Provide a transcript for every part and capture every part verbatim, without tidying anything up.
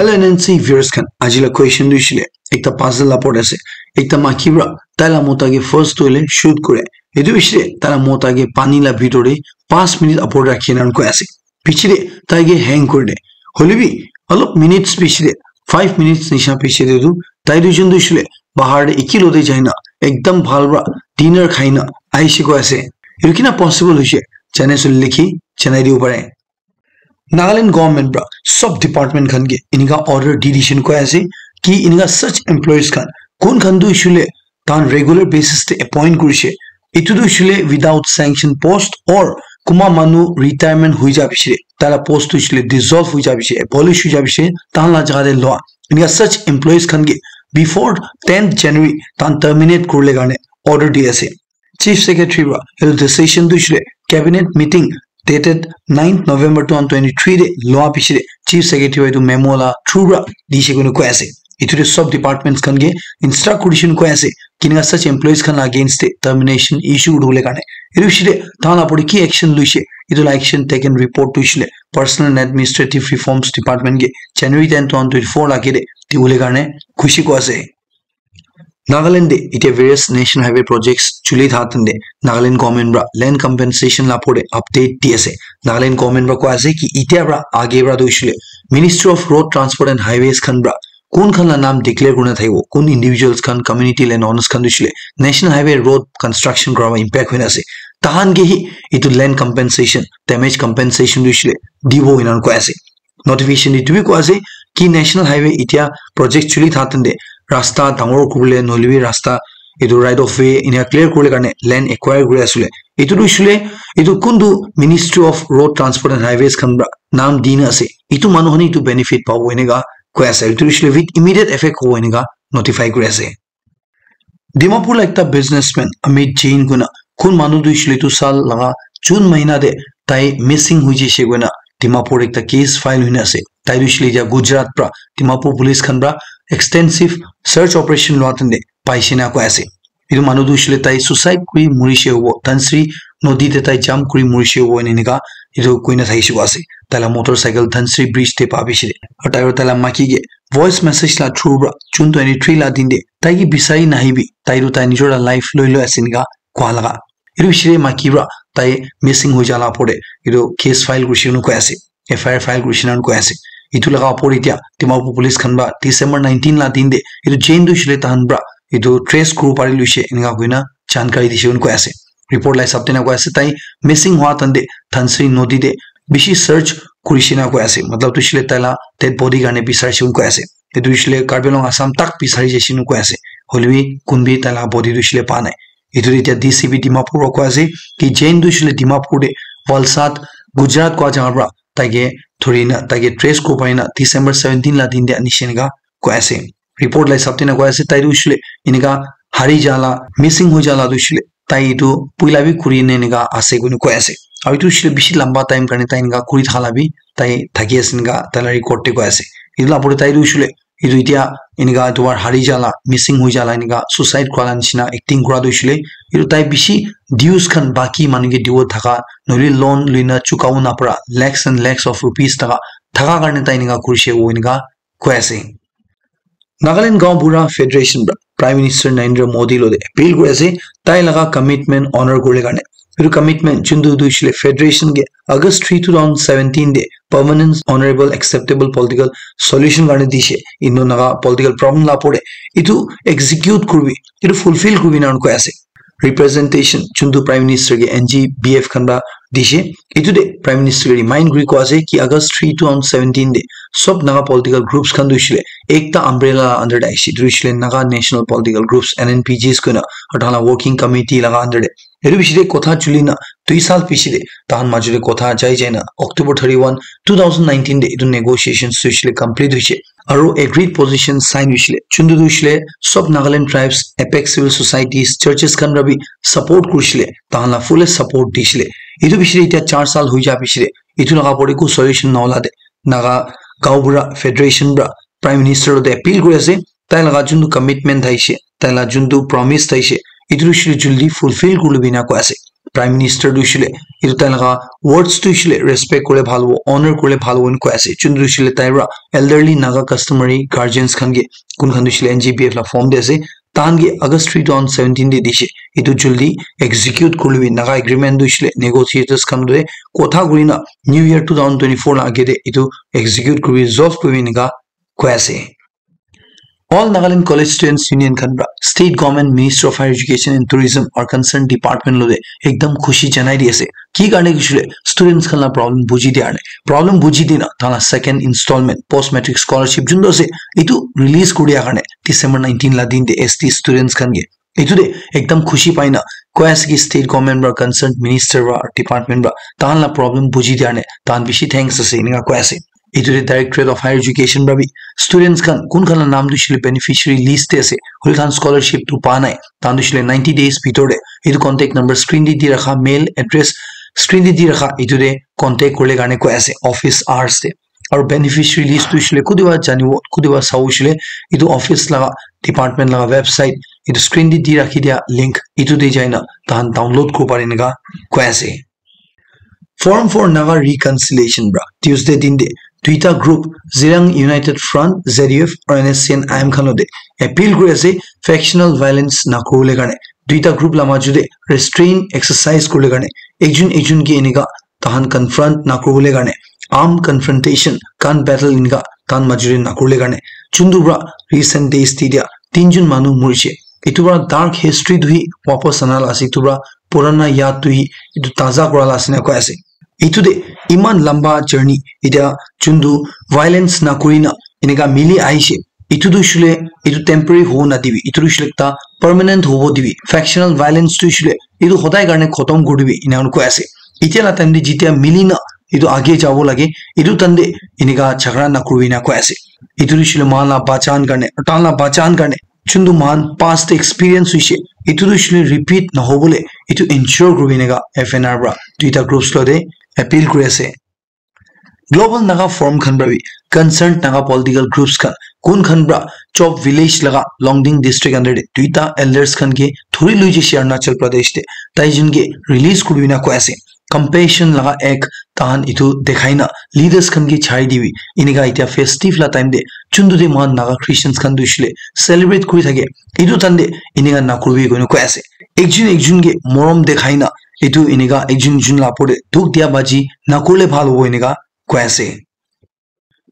Hello N N C viewers khan, aji la question tu hoishe le ekta puzzle la opor te ase. Ekta maiki para tai la mota ke first toile shoot kore. Etu hoishe le tai la mota ke pani la bitor te five minute opor te rakhi na koi ase. Piche te tai ke hang kore de. Hoile bi olop minutes piche te, five minutes nisha piche te tu tai duijon tu hoishe le bahar te eki logote jai na ekdam bhal para dinner khai na ahishe koi ase. Etu kina possible hoishe, jane sule likhi janai dibo pare. Nagaland government para sob department khan ke enika order di dishe koi ase ki enika such employees khan kun khan tu hoishe le tahan regular basis te appoint kurishe, etu tu hoishe le without sanction post or kunba manu retirement hoi ja piche, tai la post tu hoishe le dissolve hoi ja piche, abolish hoi ja piche, tahan la jaga te loa. Enika such employees khan ke before tenth January tahan terminate kuribole karne order di ase. Chief Secretary para etu decision tu hoishe le cabinet meeting dated ninth November two thousand twenty-three te loa piche te Chief Secretary para etu memo la through para dishe koina koi ase. Etu te sob departments khan ke instruct kurishe koina koi ase, kineka such employees khan against te termination issue kuribole karne. Etu piche te tahan la opor te ki action loishe, etu la action taken report tu hoishe le Personal and Administrative Reforms Department ke January ten, two thousand twenty-four la ke te dibole karne khushi koi ase. Nagaland te itia various national highway projects chuli thaka time te Nagaland government para land compensation la opor te update di ase. Nagaland government para koi ase ki itia para age para tu hoishe le Ministry of Road Transport and Highways khan para kun khan la naam declare kurina thakibo, kun individuals khan, community land owners khan tu hoishe le national highway road construction kura impact hoina ase, tahan ke hi etu land compensation, damage compensation tu hoishe le dibo enika koi ase. Notification te etu bi koi ase ki national highway itia project chuli thaka time te rasta dangor kuribole nohoile bi rasta etu right of way enika clear kuribole karne land acquire kuri ase le, etu tu hoishe le etu kuntu Ministry of Road Transport and Highways khan para naam dina ase, etu manu khan etu benefit pabo enika koi ase. Etu hoishe le with immediate effect hobo enika notify kuri ase. Dimapur la ekta businessman Amit Jain koina kun manu tu hoishe le etu saal laga June mahina te tai missing hoi jaise koina Dimapur ekta case file hoina ase. Tai tu hoishe le etia Gujarat para Dimapur police khan para extensive search operation loa time te paishe na koi ase. Etu manu tu hoishe le tai suicide kuri morishe hobo, Dhansiri nodi te tai jump kuri morishe hobo enika etu koina thakishe koi ase. Tai la motorcycle Dhansiri bridge te pa piche te. Aru tai aru tai la maiki ke voice message la through para June twenty-three la din te tai ke bisari nahibi, tai tu tai nijor la life loi loi ase enika koi laga. Etu piche te maiki para tai missing hoi ja la opor te etu case file kurishe koina koi ase, F I R file kurishe koina koi ase. Etu laga opor te itia Dimapur police khan para December nineteen la din te etu Jain tu hoishe le tahan para etu trace kuribo pari loishe enika koina jankari dishe koina koi ase. Report la hisab te enika koi ase, tai missing hua time te Dhansiri nodi te bishi search kurishe koina koi ase, matlab tu hoishe le tai la dead body karne bisarishe koina koi ase. Etu hoishe le Karbi Anglong Assam tak bisari jaise koina koi ase. Hoile bi kun bi tai la body tu hoishe le pa nai. Etu tu itia D C P Dimapur para koi ase ki Jain tu hoishe le Dimapur te Valsad, Gujarat koi jaga para tai ke dhuri na, tai ke trace kuribo pari na December seventeen la din te anishe enika koi ase. Report la hisab te enika koi ase, tai tu hoishe le enika hari ja la, missing hoi ja la tu hoishe le tai etu puila bi kuri na enika ase koina koi ase. Aru etu hoishe le bishi lamba time karne tai enika kuri thaka la bi tai thaki ase enika tai la record te koi ase. Etu la opor te tai tu hoishe le etu itia enika etu para hari ja la, missing hoi ja la enika suicide kura la nishina acting kura tu hoishe le etu tai bishi dues khan baki manu ke dibo thaka, nohoile loan loina chukabo napara lakhs and lakhs of rupees thaka, thaka karne tai enika kurishe koina enika koi ase. Nagaland Gaonbura Federation para Prime Minister Narendra Modi logote appeal kuri ase, tai laga commitment honor kuribole karne. Etu commitment juntu tu hoishe le federation ke August three, two thousand seventeen te permanent honorable acceptable political solution karne dishe, Indo Naga political problem la opor te etu execute kuribi, etu fulfill kuribi enika koi ase. Representation juntu Prime Minister ke N G B F khan para dishe. Etu te Prime Minister ke remind kuri koi ase ki August three, two thousand seventeen te sob Naga political groups khan tu hoishe le ekta umbrella under te ahishe. Etu hoishe le Naga National Political Groups, N N P Gs koina, aru tahan la working committee laga under te. Etu piche te kotha chuli na dui saal piche te tahan majo te kotha jai jai na October thirty-one, two thousand nineteen te etu negotiations tu hoishe le complete hoishe. Aru agreed position sign hoishe le, juntu tu hoishe le sob Nagaland tribes, apex civil societies, churches khan para bi support kurishe le, tahan la fullest support dishe le. Etu piche te itia char saal hoi ja piche te etu laga opor te eku solution naola te Naga Gaonbura Federation para Prime Minister logote appeal kuri ase, tai laga juntu commitment thaishe, tai laga juntu promise thaishe, etu tu hoishe le jaldi fulfill kuri lobi enika koi ase. Prime Minister tu shile, itu tai laga words tu shile respect kore bhal hobo, honor kore bhal hobo koi ase. Chun tu shile tai ra elderly Naga customary guardians khan ke kun khan tu shile N G B F la form de ase. Tan ke August three two thousand seventeen de dishe. Itu juldi execute kurle bi Naga agreement tu shile negotiators khan de kotha kurina New Year two thousand twenty-four la age de itu execute kurbi, resolve kurbi nika koi ase. All Nagaland College Students Union khan pra State Government, Ministry of Higher Education and Tourism or concerned department lo de ekdam khushi janai di ase. Ki karne kishule students khan la problem buji dia karne. Problem buji dina tala second installment post matric scholarship jun do ase itu release kuri dia karne December nineteen la din de S T students khan ke. Itu de ekdam khushi paina koi ase ki state government pra concerned minister pra department pra tahan la problem buji dia karne tahan bishi thanks ase inika koi ase. Itu de Directorate of Higher Education pra bi students khan kun khan la naam tu shile beneficiary list te ase, hoile tahan scholarship tu pa nai, tahan tu shile ninety days bhitor de itu contact number screen de di rakha, mail address screen de di rakha, itu de contact kurle karne koi ase office hours de. Aru beneficiary list tu shile kudiba janibo, kudiba sabo shile itu office laga department laga website itu screen de di rakhi dia link itu de jaina tahan download kuri pare enika koi ase. Forum for Naga Reconciliation pra Tuesday din de duita group Zirang United Front, Z U F, aru N S C N I M khan lo de appeal kuri ase factional violence na kuribole karne. Duita group la maju de restraint exercise kuribole karne. Ekjun ekjun ke enika tahan confront na kuribole karne. Armed confrontation, gun battle enika tahan maju de na kuribole karne. Chundu pra recent days de dia tinjun manu murishe. Itu pra dark history tu hi wapas ana la ase, itu pra purana yaad tu hi itu taza kura la ase na koi ase. Itu de iman lamba journey etiya juntu violence na kurina enika mili ahishe. Itu tu shule itu temporary hobo na dibi, itu tu shule ekta permanent hobo dibi. Factional violence tu shule itu hodai karne khotom kuri dibi ena koi ase. Etiya la time de jitiya mili na itu age jabo lage, itu time de enika jhagara na kuribi na koi ase. Itu tu shule mohan la bachan karne, tahan la bachan karne juntu mohan past experience hoishe, itu tu shile repeat nahobole itu ensure kuribi enika F N R pra duita groups lo de appeal kuri ase. Global Naga Forum khan pra bi concerned Naga political groups khan kun khan pra Chop village laga Longding district under de duita elders khan ke thuri lui jishe Arunachal Pradesh de, tai jun ke release kuribi na koi ase. Compassion laga ek tahan itu dekhai na leaders khan ke chai dibi. Enika etiya festive la time de juntu de mohan Naga Christians khan tu shile celebrate kuri thake, itu time de enika na kuribi koina koi ase. Ekjun ekjun ke morom dekhai na itu enika ekjun ekjun la opor de dukh dia baji na kurle bhal hobo enika koi ase.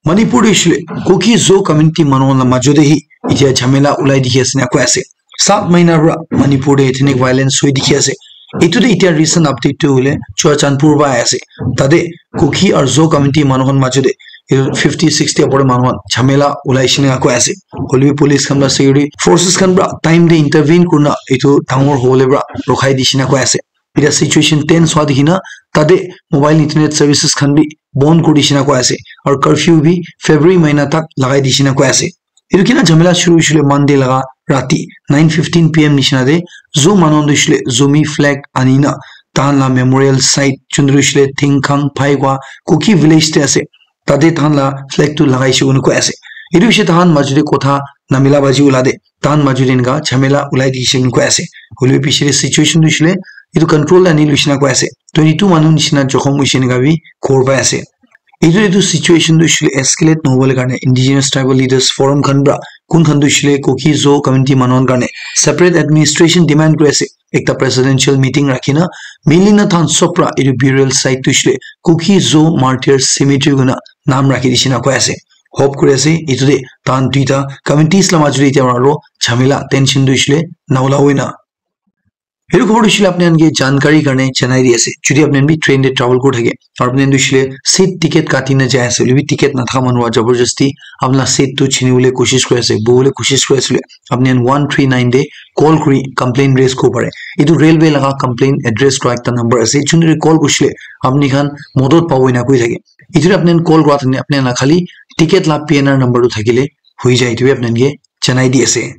Manipur de shile Kuki Zo community manu khan la majo de hi etiya jhamela ulai dikhi ase na koi ase. Saat mahina pra Manipur de ethnic violence hoi dikhi ase. Itu de etiya recent update tu hoile Churachandpur pra ahi ase. Tade Kuki aru Zo community manu khan majo de itu fifty sixty opor manu khan jhamela ulai shina koi ase. Hoile bi police khan pra security forces khan pra time de intervene kurina itu dangor hobole pra rokhai dishina koi ase. Etiya situation tense hua dikhi na tade mobile internet services khan bi bon kuri dishina koi ase. Aru curfew bi February mahina tak lagai dishina koi ase. Itu kina jhamela shuru hoishile Monday laga rati nine fifteen P M nishina de Zo manu khan tu hoishile Zomi flag anina tahan la memorial site juntu hoishile Thingkhang Phaigua Kuki village de ase. Tate tahan la flag tu lagaishe koina koi ase. Itu hoishe tahan majo de kotha namila baji ula de tahan majo de enika jhamela ulai dikhi koina koi ase. Hoile bi piche de situation tu hoishile itu control ani luishina koi ase. Twenty two manu nishina jokhom hoishe enika bi khobor pai ase. Itu, itu situation tu hoishile escalate nahobole karne Indigenous Tribal Leaders Forum khan pra kun khan tu hoishile Kuki Zo community manu khan karne separate administration demand kuri ase. Ekta presidential meeting rakhi na mili na tahan sob pra itu burial site tu hoishile Kuki Zo Martyrs Cemetery koina naam rakhi dishina koi ase. Hope kuri ase itu de tahan duita communities la majo de etiya aru jhamela tension tu hoishile na ula hoina. Itu khobor tu hoishile apni khan ke jankari karne janai di ase. Jodi apni khan bi train de travel kuri thake aru apni khan tu hoishile seat ticket kati na jai ase, hoile bi ticket nathaka manu para jabardasti apni la seat tu chini bole koshish kuri ase, bohi bole koshish kuri ase, apni khan one three nine de call kuri complaint raise kuribo pare. Itu railway laga complaint address kura ekta number ase, juntu call kurishile apni khan modot pabo ena koi thake. Itu apni khan call kura thakile apni khan la khali ticket la P N R number tu thakile hoi jai, itu apni khan ke janai di ase.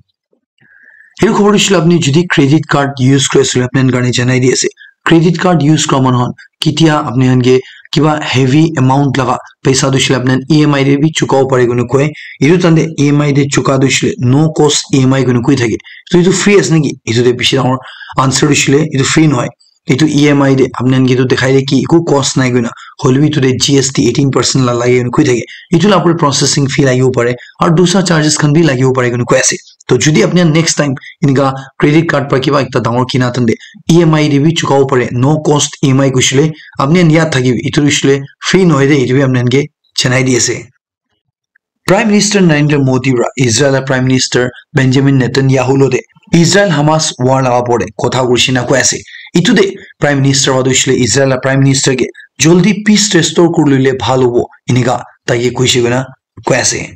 Itu khobor tu hoishile apni jodi credit card use kuri ase koile apni khan karne janai di ase. Credit card use kura manu khan ketia apni khan ke kiba heavy amount laga paisa tu hoishile apni khan E M I de bi chukabo pare koina koi. Itu time de E M I de chuka tu hoishile no cost E M I koina koi thake. So itu free ase naki? Itu de bishi dangor answer tu hoishile itu free nohoi. Etu E M I de apni khan ke etu dikhai de ki eku cost nai koina, hoilebi etu de G S T eighteen percent la lage koina koi thake. Etu la upor processing fee lagibo pare, aru dusra charges khan bi lagibo pare koina koi ase. To jodi apni khan next time enika credit card para kiba ekta dangor kina tande E M I de bi chukabo pare, no cost E M I kushile apni khan yaad thakibi, etu kushile free nohoi de, etu bi apni khan ke janai di ase. Prime Minister Narendra Modi para Israel la Prime Minister Benjamin Netanyahu lo de Israel Hamas war laga upor de kotha kurishi na koi ase. Etu de Prime Minister wa tu hoishe le Israel la Prime Minister ke joldi peace restore kuri lole bhal hobo, enika tai ke koishe koina koi ase.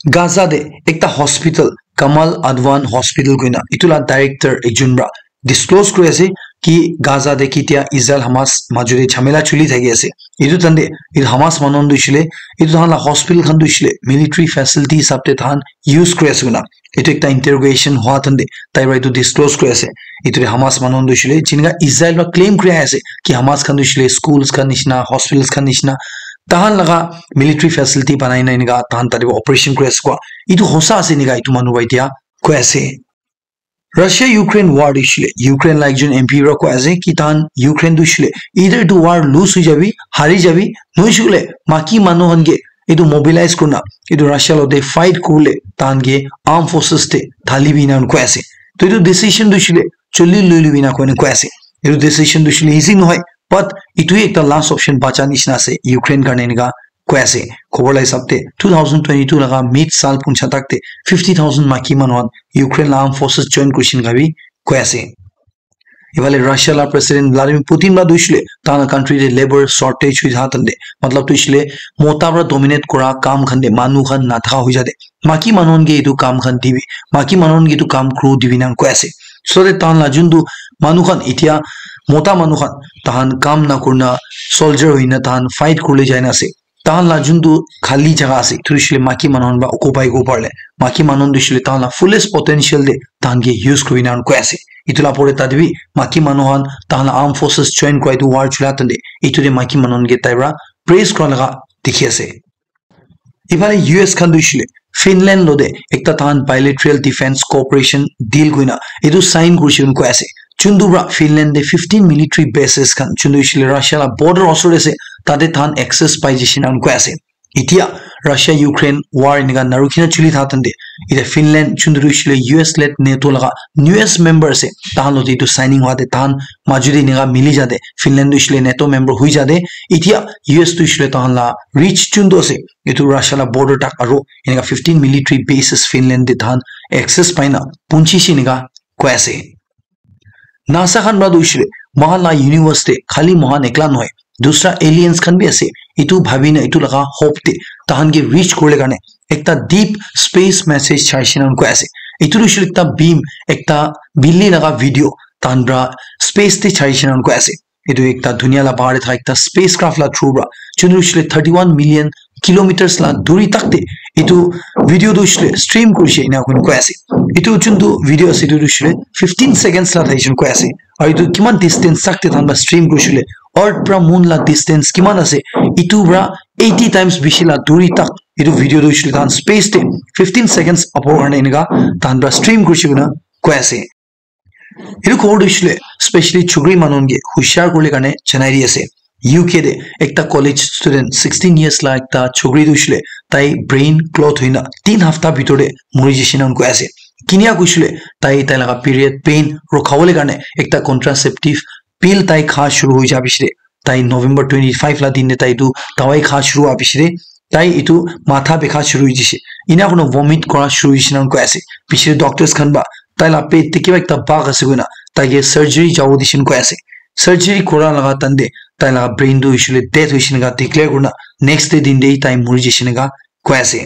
Gaza de ekta hospital, Kamal Adwan Hospital koina, etu la director ekjon para disclose kuri ase ki Gaza de kitia Israel Hamas majo de jhamela chuli thaki ase. Etu tande etu Hamas manu khan tu hoishe le, etu tahan la hospital khan tu hoishe le military facility hisab de tahan use kuri ase koina. Etu ekta interrogation hua tande tai para etu disclose kuri ase. Etu de Hamas manu khan tu hoishe le, jinika Israel para claim kuri ase ki Hamas khan tu hoishe le schools khan nishina, hospitals khan nishina, tahan laga military facility banai na enika tahan tate para operation kuri ase koa. Etu hosa ase enika etu manu para etia koi ase. Russia Ukraine war tu hoishe le, Ukraine la ekjon M P para koi ase ki tahan Ukraine tu hoishe le either etu war lose hoi jabi, hari jabi, nohoishe koile maki manu khan ke etu mobilize kurina etu Russia lo de fight kuribole tahan ke armed forces de thali bi enika koi ase. To etu decision tu hoishe le joldi loi lobi enika koina koi ase. Etu decision tu hoishe le easy nohoi, but etu ekta last option bacha nishina ase Ukraine karne enika koi ase. Khobor la hisab te two thousand twenty-two laga mid sal puncha tak te fifty thousand maki manu khan Ukraine la armed forces join kurishin ka bi koi ase. Ifale Russia la President Vladimir Putin la tu hoishe le tahan la country te labor shortage hoi thakan te, matlab tu hoishe le mota para dominate kura kam khan te manu khan nathaka hoi jate maki manu khan ke etu kam khan dibi, maki manu khan ke etu kam kuru dibi enika koi ase. So that tahan la juntu manu khan etia mota manu khan tahan kam nakurina soldier hoina tahan fight kuribole jaina ase. Tahan la juntu khali jaga ase, etu hoishe le maki manu khan para occupy kuribo parile. Maki manu khan tu hoishe le tahan la fullest potential de tahan ke use kuribi enika koi ase. Etu la upor de tate bi maki manu khan tahan la armed forces join kura etu war chula tande etu de maki manu khan ke tai para praise kura laga dikhi ase. Ifale U S khan tu hoishe le Finland lo de ekta tahan bilateral defense cooperation deal koina etu sign kurishe koina koi ase. Juntu para Finland de fifteen military bases khan juntu hoishe le Russia la border osor de ase, tate tahan access pai jaishe enika koi ase. Etia Russia Ukraine war enika narukhi na chuli thakan te etia Finland juntu hoishe le U S led NATO laga newest member ase, tahan lo de etu signing hua de tahan majo de enika mili jate Finland tu hoishe le NATO member hoi jate etia U S tu hoishe le tahan la reach juntu ase etu Russia la border tak aru enika fifteen military bases Finland de tahan access pai na punchi she enika koi ase. NASA khan para tu hoishe le moikhan la universe te khali moikhan ekla nohoi, dusra aliens khan bi ase. Etu bhabi na etu laga hope te tahan ke reach kuribole karne ekta deep space message chaishe enika koi ase. Etu tu hoishe le ekta beam, ekta bili laga video tahan para space te chaishe enika koi ase. Etu ekta dunia la bahar de thaka ekta spacecraft la through para juntu hoishe le thirty one million kilometers la duri tak te etu video tu hoishe le stream kurishe enika koina koi ase. Etu juntu video ase etu tu hoishe le fifteen seconds la thakishe enika koi ase. Aru etu kiman distance tak te tahan para stream kurishe le earth para moon la distance kiman ase etu para eighty times bishi la duri tak etu video tu hoishe le tahan space te fifteen seconds apor karne enika tahan para stream kurishe koina koi ase. Etu khobor tu hoishe le specially chukri manu khan ke hushiar kuribole karne janai di ase. U K de ekta college student sixteen years la ekta chukri tu hoishe le tai brain clot hoina tin hafta bitor de muri jaishe enika koi ase. Kinia koishe le tai tai laga period pain rukhabole karne ekta contraceptive pill tai kha shuru hoi ja piche de tai November twenty five la din de tai etu dawai kha shuru hua piche de tai etu matha bikha shuru hoi jaishe. Enika kurina vomit kura shuru hoishe enika koi ase. Piche de doctors khan para tai la pet te kiba ekta bag ase koina tai ke surgery jabo dishe enika koi ase. Surgery kura laga time te tai laga brain tu hoishe le dead hoishe enika declare kurina next day din te tai muri jaishe enika koi ase.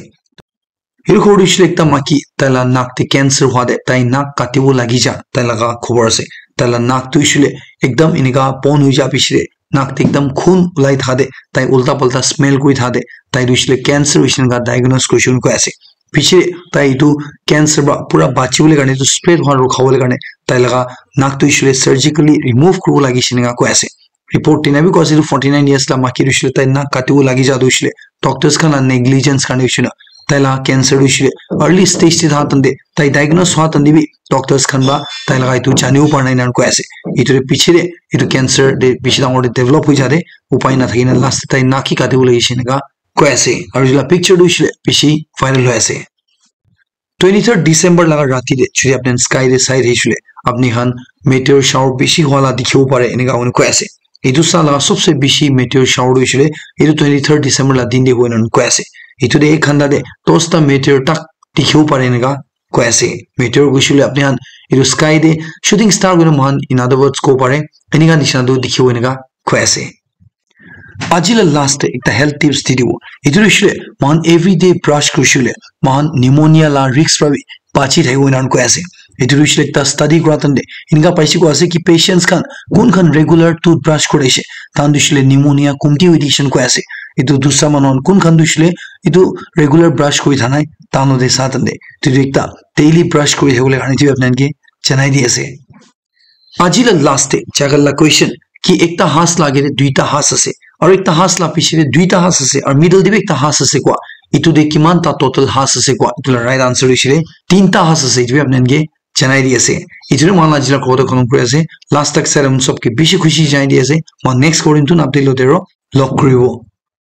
Etu khobor tu hoishe le ekta maiki tai la nak te cancer hua de tai nak katibo lagi ja tai laga khobor ase. Tai la nak tu hoishe le ekdam enika bon hoi ja piche de nak te ekdam khun ulai thaka de tai ulta palta smell kuri thaka de tai tu hoishe le cancer hoishe enika diagnose kurishe enika koi ase. Piche de tai etu cancer para pura bachibole karne etu spread hua rukhabole karne tai laga nak tu hoishe le surgically remove kuribo lagishe enika koi ase. Report tina bi koi ase etu forty nine years la maiki tu hoishe le tai nak katibo lagi ja tu hoishe le doctors khan la negligence karne hoishe na Tai la cancer tu shile early stage te tha tande, tai diagnose hua tande bi doctors khan ba tai laga itu janibo para nai nan koi ase. Itu de piche de itu cancer de bishi dangor de develop hoi jade, upai na thaki na last te tai na ki kati bole ishi neka koi ase. Aru etu la picture tu shile bishi viral hoi ase. Twenty third December laga rati de churi apni sky de sai de shile apni khan meteor shower bishi hua la dikhibo pare eneka hoi koi ase. Itu sa laga sobse bishi meteor shower tu shile itu twenty third December la din de hoi nan koi ase. Itu de ek ghanta de dosta meteor tak dikhibo pare eneka koi ase. Meteor koi shile apni khan itu sky de shooting star koi na mohan in other words ko pare eneka nishina tu dikhibo eneka koi ase. Aji la last te ekta health tips di dibo. Itu tu shile mohan everyday brush kuri shile mohan pneumonia la risk pra bi bachi thaki bo nan koi ase. Itu tu shile ekta study kura tande eneka paise koi ase ki patients khan kun khan regular toothbrush kuri ase, tan tu shile pneumonia kumti hoi dikishan koi ase. Itu dusra manu khan kun khan tu shile itu regular brush kuri thanai tan lo de sa tande itu ekta daily brush kuri thaki bole karne itu apni khan ke janai di ase. Aji la last te jagal la question ki ekta has la agere duita has ase aru ekta has la piche te duita has ase aru middle te bi ekta has ase koi itu de kiman ta total has ase koi itu la right answer hoishe tinta has ase itu bi apni khan ke janai di ase. Itu de mohan aji la khota khatam kuri ase. Last tak salam sob ke bishi khushi janai di ase. Mohan next korim tu update lo dero log kuribo.